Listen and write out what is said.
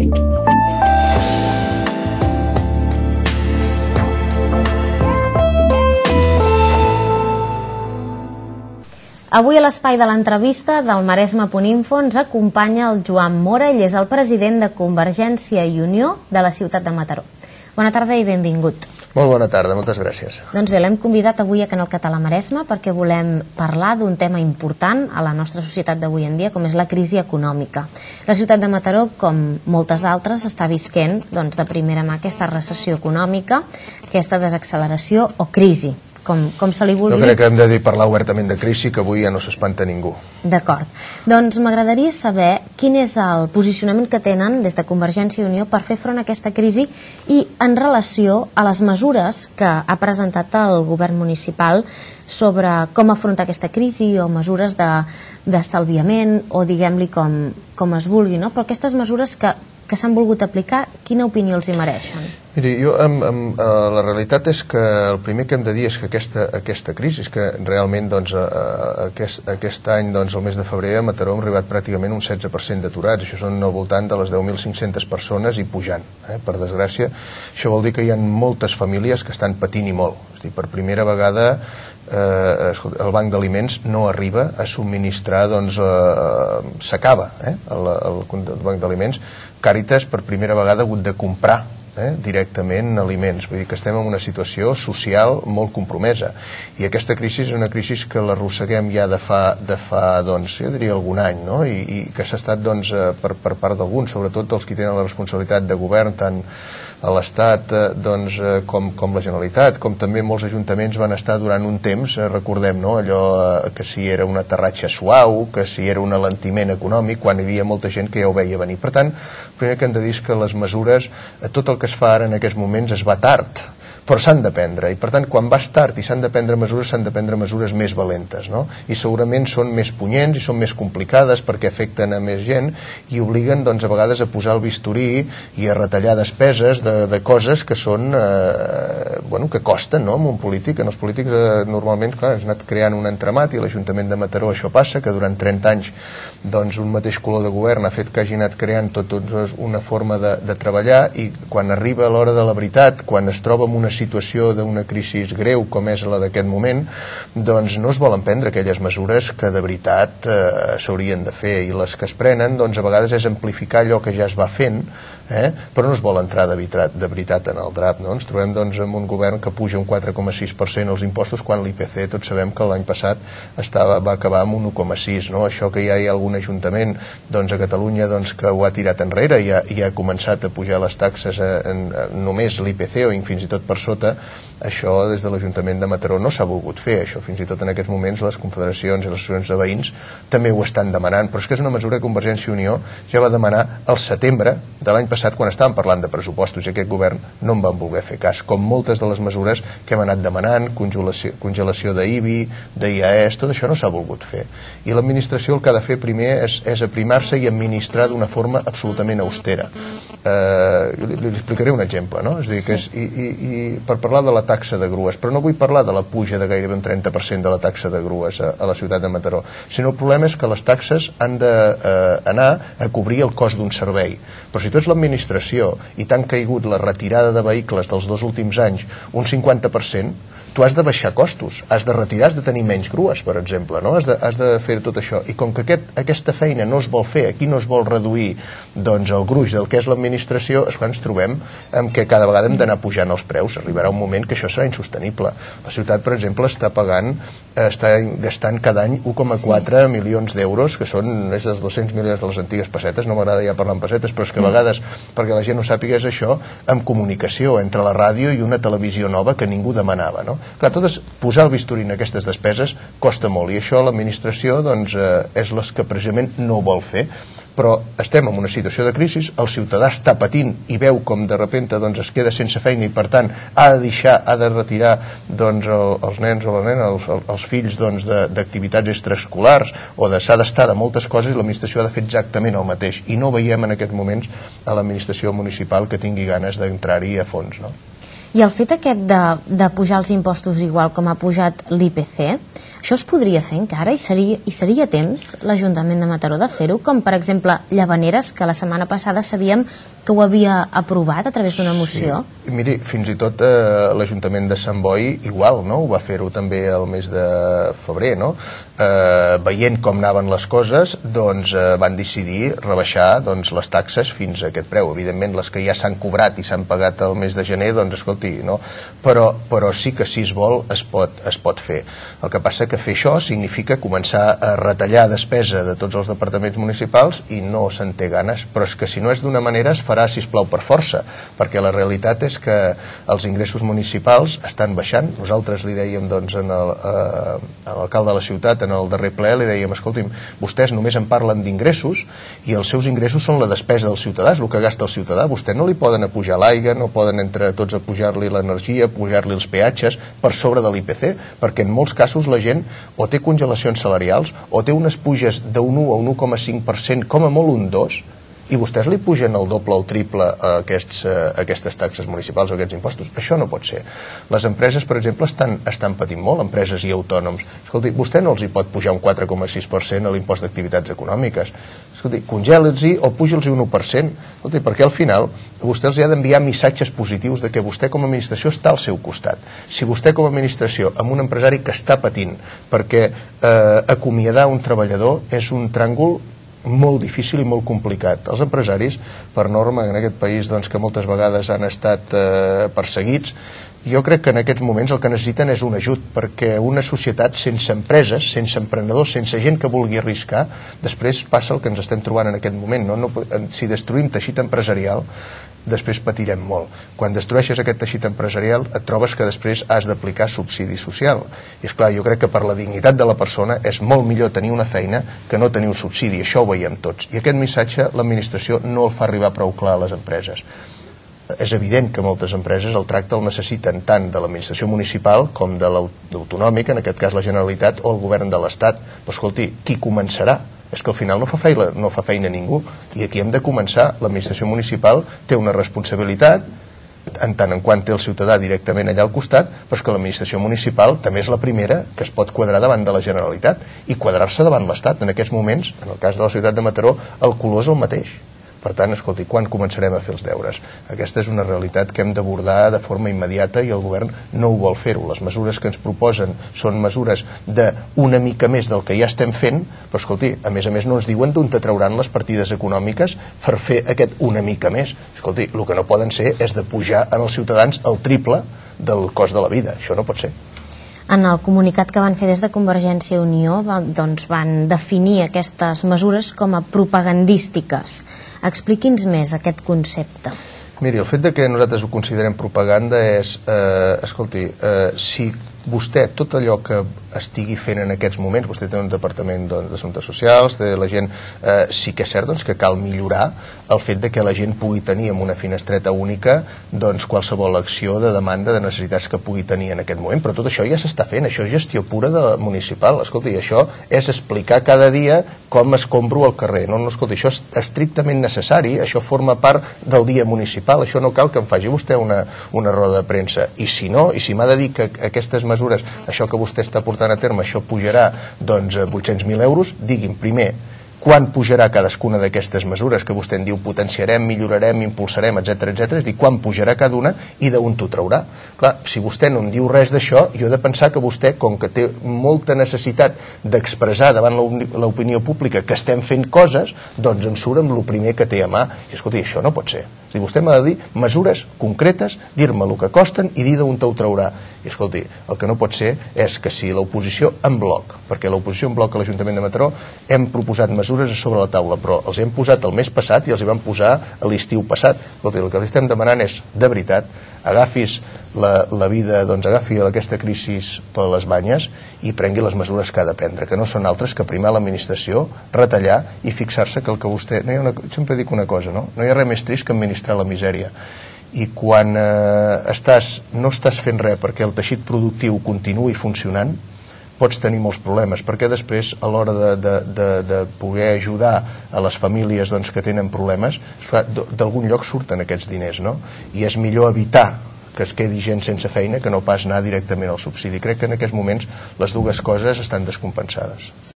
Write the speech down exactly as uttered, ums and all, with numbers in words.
Avui a l'espai de l'entrevista del Maresme.info ens acompanya el Joan Mora, ell és el president de Convergència i Unió de la ciutat de Mataró. Bona tarda i benvingut. Molt bona tarda, moltes gràcies. Doncs bé, l'hem convidat avui a Canal Català Maresme perquè volem parlar d'un tema important a la nostra societat d'avui en dia, com és la crisi econòmica. La ciutat de Mataró, com moltes d'altres, està visquent doncs, de primera mà aquesta recessió econòmica, aquesta desacceleració o crisi, com, com se li vulgui. Jo crec que hem de dir parlar obertament de crisi, que avui ja no s'espanta ningú. D'acord. Doncs m'agradaria saber quin és el posicionament que tenen des de Convergència i Unió per fer front a aquesta crisi i en relació a les mesures que ha presentat el govern municipal sobre com afrontar aquesta crisi o mesures d'estalviament o diguem-li com, com es vulgui, no? Però aquestes mesures que, que s'han volgut aplicar, quina opinió els hi mereixen? Miri, jo, amb, amb, uh, la realitat és que el primer que hem de dir és que aquesta, aquesta crisi, és que realment doncs, uh, aquest, aquest any, doncs, el mes de febrer, a Mataró hem arribat pràcticament un setze per cent d'aturats, això són al voltant de les deu mil cinc-centes persones i pujant. Eh? Per desgràcia, això vol dir que hi ha moltes famílies que estan patint i molt. És a dir, per primera vegada eh, el banc d'aliments no arriba a subministrar, doncs, eh, s'acaba eh? el, el, el banc d'aliments. Càritas per primera vegada ha hagut de comprar Eh, directament aliments, vull dir que estem en una situació social molt compromesa i aquesta crisi és una crisi que l'arrosseguem ja de fa, de fa doncs, jo diria algun any, no? I, i que s'ha estat doncs, per, per part d'alguns, sobretot dels que tenen la responsabilitat de govern, tant a l'Estat eh, doncs, eh, com, com la Generalitat, com també molts ajuntaments van estar durant un temps, eh, recordem, no? Allò eh, que si era un aterratge suau, que si era un alentiment econòmic, quan hi havia molta gent que ja ho veia venir. Per tant, el primer que hem de dir és que les mesures, eh, tot el que es fa ara en aquests moments es va tard, però s'han de prendre, i per tant quan vas tard i s'han de prendre mesures, s'han de prendre mesures més valentes, no? I segurament són més punyents i són més complicades perquè afecten a més gent i obliguen doncs a vegades a posar el bisturí i a retallar despeses de, de coses que són eh, bueno, que costen, no? En un polític, en els polítics eh, normalment, clar, has anat creant un entramat i l'Ajuntament de Mataró això passa, que durant trenta anys doncs un mateix color de govern ha fet que hagi anat creant tot, tot una forma de, de treballar i quan arriba l'hora de la veritat, quan es troba en una situació d'una crisi greu com és la d'aquest moment, doncs no es volen prendre aquelles mesures que de veritat eh, s'haurien de fer i les que es prenen doncs a vegades és amplificar allò que ja es va fent, eh? Però no es vol entrar de veritat, de veritat en el drap, no? Ens trobem doncs amb un govern que puja un quatre coma sis per cent els impostos quan l'I P C tots sabem que l'any passat estava, va acabar amb un u coma sis, no? Això que ja hi ha algun ajuntament doncs a Catalunya doncs, que ho ha tirat enrere i ha, i ha començat a pujar les taxes en, en només l'I P C o fins i tot per sota, això des de l'Ajuntament de Mataró no s'ha volgut fer, això fins i tot en aquests moments les confederacions i les associacions de veïns també ho estan demanant, però és que és una mesura que Convergència i Unió ja va demanar al setembre de l'any passat quan estàvem parlant de pressupostos i aquest govern no en van voler fer cas, com moltes de les mesures que hem anat demanant, congelació, congelació d'I B I, d'I A S, tot això no s'ha volgut fer. I l'administració el que ha de fer primer és, és aprimar-se i administrar d'una forma absolutament austera. Eh, li, li explicaré un exemple, no? És a dir, que és, i, i, i per parlar de la taxa de grues, però no vull parlar de la puja de gairebé un trenta per cent de la taxa de grues a, a la ciutat de Mataró, sinó el problema és que les taxes han d'anar eh, a cobrir el cost d'un servei. Però si tu ets l'administració i t'han caigut la retirada de vehicles dels dos últims anys un cinquanta per cent, tu has de baixar costos, has de retirar, has de tenir menys grues, per exemple, no? Has de, has de fer tot això. I com que aquest, aquesta feina no es vol fer, aquí no es vol reduir doncs, el gruix del que és l'administració, és quan ens trobem amb que cada vegada hem d'anar pujant els preus. Arribarà un moment que això serà insostenible. La ciutat, per exemple, està pagant, està gastant cada any u coma quatre sí. milions d'euros, que són més dels dos-cents milions de les antigues pessetes, no m'agrada ja parlar en pessetes, però és que a vegades, perquè la gent no sàpiga, és això, amb comunicació entre la ràdio i una televisió nova que ningú demanava, no? Clar, tot és posar el bisturí en aquestes despeses costa molt i això l'administració doncs, eh, és les que precisament no vol fer, però estem en una situació de crisi, el ciutadà està patint i veu com de repente doncs, es queda sense feina i per tant ha de deixar, ha de retirar doncs, el, els nens o les nenes, els, els fills doncs, d'activitats extraescolars o de s'ha d'estar de moltes coses i l'administració ha de fer exactament el mateix i no veiem en aquests moments a l'administració municipal que tingui ganes d'entrar-hi a fons, no? I el fet aquest de, de pujar els impostos igual com ha pujat l'I P C, Això es podria fer encara i seria, i seria temps l'Ajuntament de Mataró de fer-ho, com per exemple Llavaneres, que la setmana passada sabíem que ho havia aprovat a través d'una moció. Sí. Miri, fins i tot eh, l'Ajuntament de Sant Boi igual, no? Ho va fer-ho també el mes de febrer, no? Eh, veient com anaven les coses, doncs eh, van decidir rebaixar doncs, les taxes fins a aquest preu. Evidentment, les que ja s'han cobrat i s'han pagat el mes de gener, doncs escolti, no? Però, però sí que si es vol es pot, es pot fer. El que passa que fer això significa començar a retallar despesa de tots els departaments municipals i no se'n té ganes, però és que si no és d'una manera es farà, sisplau, per força, perquè la realitat és que els ingressos municipals estan baixant. Nosaltres li dèiem doncs, en el, eh, a l'alcalde de la ciutat, en el darrer ple, li dèiem, escolti'm, vostès només en parlen d'ingressos i els seus ingressos són la despesa del ciutadà, és el que gasta el ciutadà. Vostè no li poden apujar l'aigua, no poden entre tots apujar-li l'energia, apujar-li els peatges per sobre de l'I P C, perquè en molts casos la gent o té congelacions salarials o té unes puges d'un u a un u coma cinc per cent, com a molt un dos, i vostès li pugen el doble o el triple a, aquests, a aquestes taxes municipals o aquests impostos. Això no pot ser. Les empreses, per exemple, estan, estan patint molt, empreses i autònoms. Escolti, vostè no els hi pot pujar un quatre coma sis per cent a l'impost d'activitats econòmiques. Escolti, congeli'ls-hi o puja'ls-hi un u per cent. Escolti, perquè al final vostè els ha d'enviar missatges positius de que vostè com a administració està al seu costat. Si vostè com a administració, amb un empresari que està patint perquè eh, acomiadar un treballador és un tràngol molt difícil i molt complicat. Els empresaris, per norma, en aquest país doncs, que moltes vegades han estat eh, perseguits, jo crec que en aquests moments el que necessiten és un ajut, perquè una societat sense empreses, sense emprenedors, sense gent que vulgui arriscar, després passa el que ens estem trobant en aquest moment. No? No, si destruïm teixit empresarial, després patirem molt. Quan destrueixes aquest teixit empresarial et trobes que després has d'aplicar subsidi social. I esclar, jo crec que per la dignitat de la persona és molt millor tenir una feina que no tenir un subsidi. Això ho veiem tots. I aquest missatge l'administració no el fa arribar prou clar a les empreses. És evident que moltes empreses el tracte el necessiten tant de l'administració municipal com de l'autonòmica, en aquest cas la Generalitat, o el govern de l'Estat. Però escolti, qui començarà? És que al final no fa feina, no fa feina ningú, i aquí hem de començar. L'administració municipal té una responsabilitat en tant en quant té el ciutadà directament allà al costat, però és que l'administració municipal també és la primera que es pot quadrar davant de la Generalitat i quadrar-se davant l'Estat. En aquests moments, en el cas de la ciutat de Mataró, el color és el mateix. Per tant, escolti, quan començarem a fer els deures? Aquesta és una realitat que hem d'abordar de forma immediata i el govern no ho vol fer-ho. Les mesures que ens proposen són mesures d'una mica més del que ja estem fent, però escolti, a més a més no ens diuen d'on te trauran les partides econòmiques per fer aquest una mica més. Escolti, el que no poden ser és de pujar en els ciutadans el triple del cost de la vida. Això no pot ser. En el comunicat que van fer des de Convergència i Unió doncs van definir aquestes mesures com a propagandístiques. Expliqui'ns més aquest concepte. Miri, el fet de que nosaltres ho considerem propaganda és, eh, escolti, eh, si vostè, tot allò que estigui fent en aquests moments, vostè té un departament doncs, d'assumptes socials, té la gent, eh, sí que és cert doncs, que cal millorar el fet de que la gent pugui tenir en una finestreta única doncs, qualsevol acció de demanda de necessitats que pugui tenir en aquest moment, però tot això ja s'està fent, això és gestió pura de municipal. Escolti, això és explicar cada dia com escombro al carrer. No, no, escolti, això és estrictament necessari, això forma part del dia municipal, això no cal que em faci vostè una, una roda de premsa. I si no, i si m'ha de dir que aquestes mesures, això que vostè està portant a terme, això pujarà doncs, vuit-cents mil euros, digui'm primer quan pujarà cadascuna d'aquestes mesures que vostè en diu potenciarem, millorarem, impulsarem, etcètera, etcètera, és dir, quan pujarà cada una i d'on t'ho traurà. Clar, si vostè no em diu res d'això, jo he de pensar que vostè, com que té molta necessitat d'expressar davant l'opinió pública que estem fent coses, doncs em surt amb el primer que té a mà. I escolti, això no pot ser. És dir, vostè m'ha de dir mesures concretes, dir-me el que costen i dir d'on t'ho traurà. I escolti, el que no pot ser és que si l'oposició en bloc, perquè l'oposició en bloc a l'Ajuntament de Mataró hem proposat mesures a sobre la taula, però els hem posat el mes passat i els hi vam posar a l'estiu passat. Escolti, el que li estem demanant és, de veritat, agafis la, la vida, doncs agafi aquesta crisi per les banyes i prengui les mesures que ha de prendre, que no són altres que primar l'administració, retallar i fixar-se que el que vostè... No hi ha una, sempre dic una cosa, no? No hi ha res més trist que administrar la misèria. I quan eh, estàs, no estàs fent res perquè el teixit productiu continuï funcionant, pots tenir molts problemes, perquè després a l'hora de, de, de, de poder ajudar a les famílies doncs, que tenen problemes, d'algun lloc surten aquests diners, no? I és millor evitar que es quedi gent sense feina que no pas anar directament al subsidi. Crec que en aquests moments les dues coses estan descompensades.